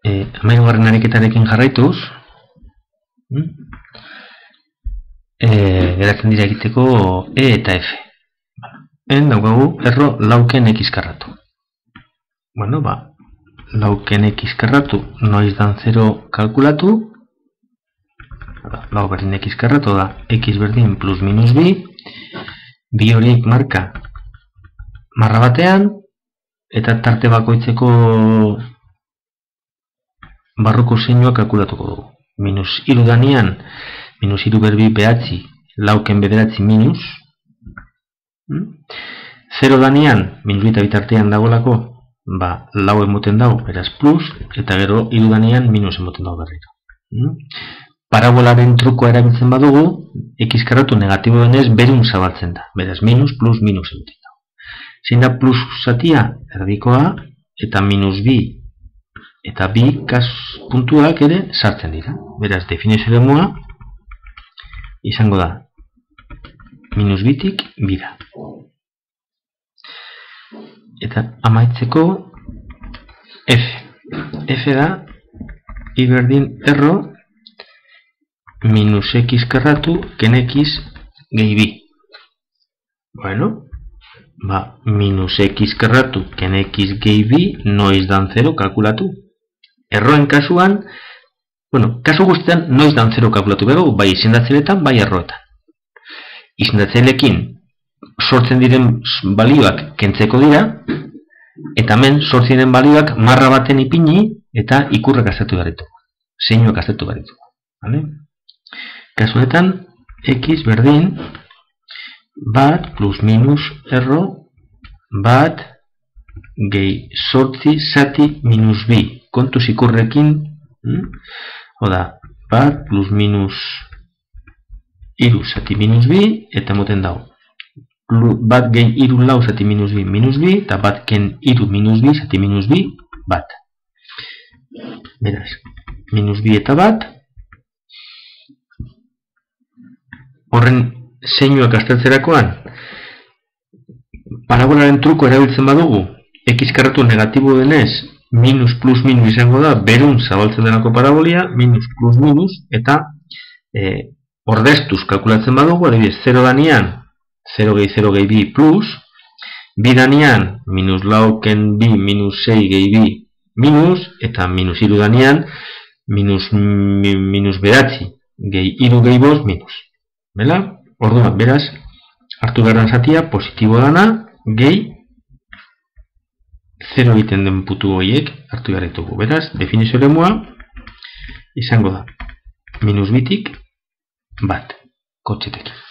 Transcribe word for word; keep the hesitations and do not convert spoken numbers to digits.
E, Hamahirugarren ariketarekin jarraituz, e, geratzen dira egiteko E eta F. En daukagu erro lauken X karratu. Bueno, ba, lauken X karratu noiz dan zero kalkulatu. Lau berdin X karratu da X berdin plus minus bi. Bi horiek marka marra batean, eta tarte bakoitzeko barruko zeinua kalkulatuko dugu. Minus hiru danean, minus hiru berbi behatzi, lauken bederatzi minus. Zero danean, minus bita bitartean dagoelako, ba, lau emoten dago, beraz plus, eta gero hiru danean minus emoten dago berriro. Parabolaren trukoa erabiltzen badugu, X karratu negatibo denez berun zabaltzen da. Beraz, minus, plus, minus emoten dago. Zein da plus zatia, erdikoa, eta minus bi, eta bi kas puntuak ere sartzen dira. Beraz, definizio eremua izango da minus bitik bira. Eta amaitzeko F. F da I berdin erro minus X karratu ken X gehi bi. Bueno, ba, minus X karratu ken X gehi bi noiz dan zero kalkulatu. Erroen kasuan, bueno, kasu guztietan noiz dan zero kalkulatu behar, bai izendatzeletan, bai erroetan. Izendatzelekin sortzen diren balioak kentzeko dira, eta hemen sortzen diren balioak marra baten ipini eta ikurrak aztertu behar ditugu. Zeinuak aztertu behar ditugu. Vale? Kasu honetan, X berdin bat plus minus erro bat gehi sortzi zati minus bi. Kontuz ikurrekin, hm? Oda, bat plus minus iru zati minus bi, eta moten dago. Bat gehi iru lau zati minus bi minus bi, eta bat ken iru minus bi zati minus bi, bat. Beraz, minus bi eta bat. Horren zeinuak aztertzerakoan, parabolaren truko erabiltzen badugu, X karratu negatibo denez, minus plus minus izango da, berun zabaltzen denako parabolia, minus plus minus, eta e, ordeztuz kalkulatzen badugu, adibidez, zero danean, zero gehi zero gehi bi plus, bi danean, minus lau ken bi minus sei gehi bi minus, eta minus iru danean, minus, mi, minus beratzi gehi iru gehi bost minus. Bela? Orduan, beraz, hartu behar zatia, positibo dana, gehi zero egiten den putu horiek hartu behar ditugu. Beraz, definizio eremua izango da minus bitik bat kotxetekin.